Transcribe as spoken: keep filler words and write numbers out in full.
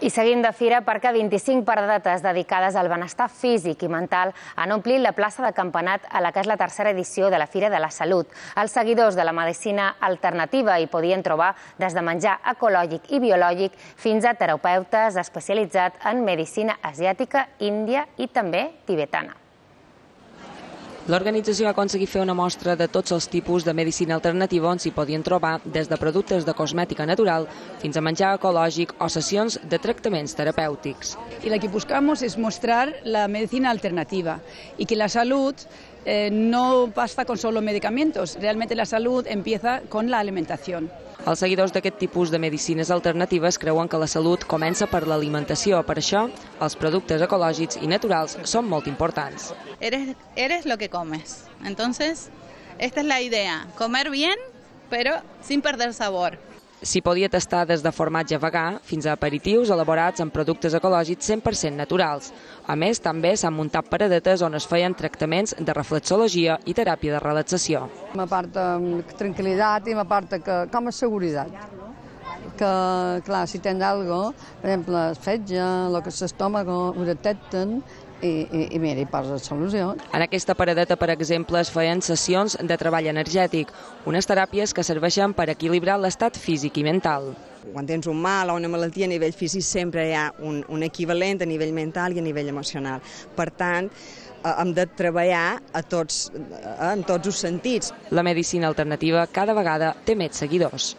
I seguim de fira perquè vint-i-cinc paradetes dedicades al benestar físic i mental han omplit la plaça de Campanat a la que és la tercera edició de la Fira de la Salut. Els seguidors de la medicina alternativa hi podien trobar des de menjar ecològic i biològic fins a terapeutes especialitzats en medicina asiàtica, índia i també tibetana. L'organització va aconseguir fer una mostra de tots els tipus de medicina alternativa on s'hi podien trobar des de productes de cosmètica natural fins a menjar ecològic o sessions de tractaments terapèutics. Y lo que buscamos es mostrar la medicina alternativa y que la salud eh, no basta con solo medicamentos, realmente la salud empieza con la alimentación. Els seguidors d'aquest tipus de medicines alternatives creuen que la salut comença per l'alimentació. Per això, els productes ecològics i naturals són molt importants. Eres, eres lo que comes. Entonces, esta es la idea. Comer bien, pero sin perder sabor. S'hi podia tastar des de formatge vegà fins a aperitius elaborats amb productes ecològics cent per cent naturals. A més, també s'han muntat paradetes on es feien tractaments de reflexologia i teràpia de relaxació. M'aporta tranquil·litat i m'aporta com a seguretat. Que, clar, si tens alguna cosa, per exemple, el fetge, el que és l'estómac, ho detecten, i, i, i mira, hi posa solució. En aquesta paradeta, per exemple, es feien sessions de treball energètic, unes teràpies que serveixen per equilibrar l'estat físic i mental. Quan tens un mal o una malaltia a nivell físic sempre hi ha un, un equivalent a nivell mental i a nivell emocional. Per tant, hem de treballar a tots, en tots els sentits. La medicina alternativa cada vegada té més seguidors.